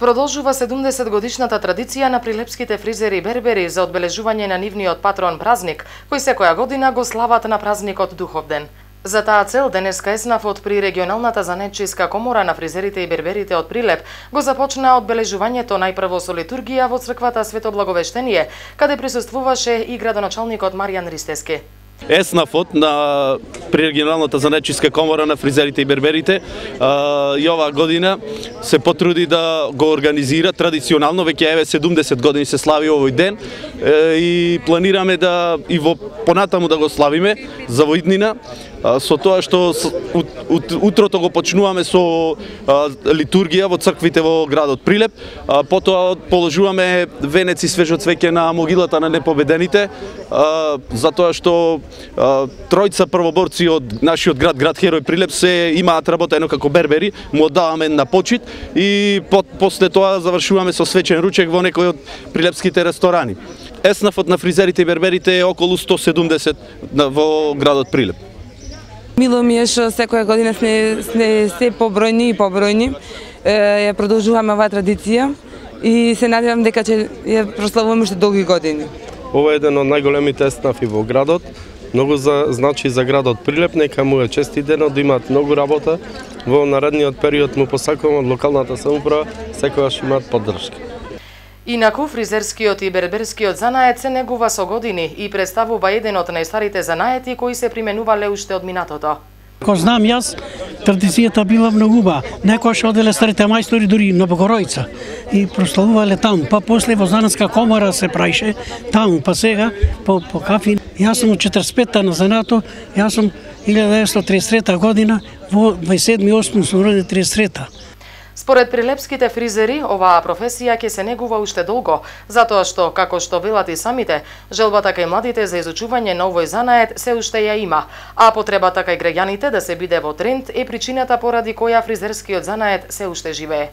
Продолжува 70-годишната традиција на прилепските фризери и бербери за одбележување на нивниот патрон празник, кој секоја година го слават на празникот Духовден. За таа цел денеска еснафот при регионалната занаетчиска комора на фризерите и берберите од Прилеп го започна одбележувањето најпрво со литургија во црквата Свето Благовештение, каде присуствуваше и градоначалникот Маријан Ристески. Еснафот при регионалната занаетчиска комора на фризерите и берберите и оваа година се потруди да го организира традиционално, веќе еве 70 години се слави овој ден и планираме да и во понатаму да го славиме за во иднина, со тоа што утрото го почнуваме со литургија во црквите во градот Прилеп, потоа положуваме венеци свежо цвеќе на могилата на непобедените, затоа што тројца првоборци од нашиот град Херој Прилеп се имаат работено како бербери, му оддаваме на почит и после тоа завршуваме со свечен ручек во некој од прилепските ресторани. Еснафот на фризерите и берберите е околу 170 во градот Прилеп. Мило ми е што секоја година сме се побројни и побројни. Ја продолжуваме оваа традиција и се надевам дека ќе ја прославуваме уште долги години. Ова е еден од најголемите еснафи во градот. Многу значи за градот Прилеп, нека му е честит денот, да имаат многу работа. Во наредниот период му посакувам од локалната самоуправа секогаш имаат поддршка. Инаку, фризерскиот и берберскиот занает се негува со години и представува еден од најстарите занаети кои се применувале уште од минатото. Ко знам јас, традицијата била многу убава. Некојаш оделе старите мајстори дури на Богоројца и прославувале таму. Па после во Занатска комора се праише таму, па сега по кафи. Јас сум од 45-та на занато, јас сум 1933 година, во 27-8 сум роден 33-та. Според прилепските фризери, оваа професија ќе се негува уште долго, затоа што, како што велат и самите, желбата кај младите за изучување на овој занает се уште ја има, а потребата кај граѓаните да се биде во тренд е причината поради која фризерскиот занает се уште живее.